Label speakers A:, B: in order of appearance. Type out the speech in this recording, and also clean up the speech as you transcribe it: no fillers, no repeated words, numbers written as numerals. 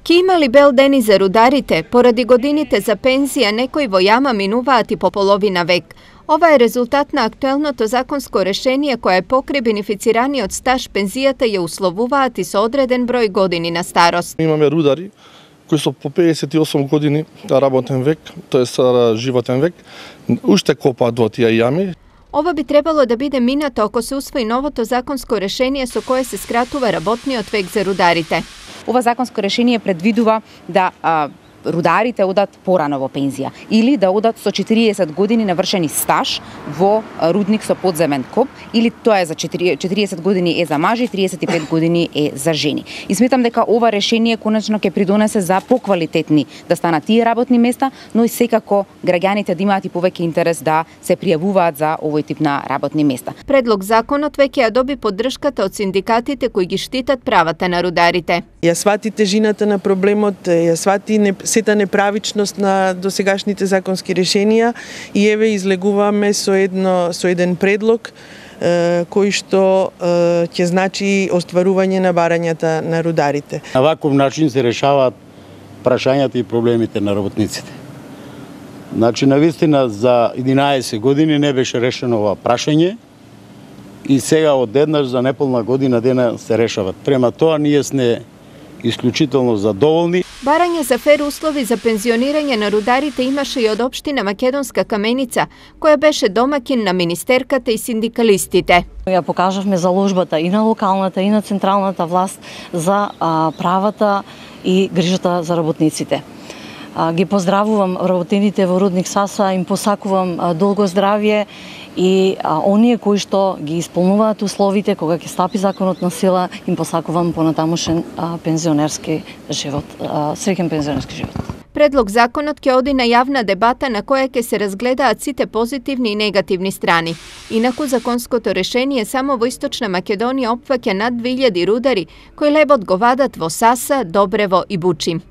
A: Ки имали бел дени за рударите, поради годините за пензија некои во јама минуваат и по половина век. Ова е резултат на актуелното законско решение кое покри бенефицираниот стаж пензијата ја условуваат и со одреден број години на старост.
B: Имаме рудари кои со по 58 години работен век, тоест животен век, уште копаат во тие јами.
A: Ова би требало да биде минато ако се усвои новото законско решение со кое се скратува работниот век за рударите.
C: Ова законско решение предвидува да рударите одат порано во пензија или да одат со 40 години навршени стаж во рудник со подземен коп, или тоа е за 40 години е за мажи, 35 години е за жени. И сметам дека ова решение конечно ќе придонесе за поквалитетни да станат тие работни места, но и секако граѓаните да имаат и повеќе интерес да се пријавуваат за овој тип на работни места.
A: Предлог законот веќе ја доби поддршката од синдикатите кои ги штитат правата на рударите.
D: Ја свати тежината на проблемот, ја свати сета неправичност на досегашните законски решенија и еве излегуваме со еден предлог кој што ќе значи остварување на барањата на рударите.
E: На ваков начин се решаваат прашањата и проблемите на работниците. Значи, навистина за 11 години не беше решено ова прашање и сега одеднаш за неполна година дена се решават. Према тоа ние сме исклучително задоволни.
A: Барање за фер услови за пензионирање на рударите имаше и од општина Македонска Каменица, која беше домакин на министерката и синдикалистите.
F: Ја покажавме заложбата и на локалната и на централната власт за правата и грижата за работниците. Ги поздравувам работените во рудник Саса, им посакувам долго здравје и оние кои што ги исполнуваат условите кога ќе стапи законот на сила, им посакувам понатамошен пензионерски живот, среќен пензионерски живот.
A: Предлог законот ќе оди на јавна дебата на која ќе се разгледаат сите позитивни и негативни страни. Инаку законското решение само во Источна Македонија опфаќа над 2000 рудари кои лебот го вадат во Саса, Добрево и Бучим.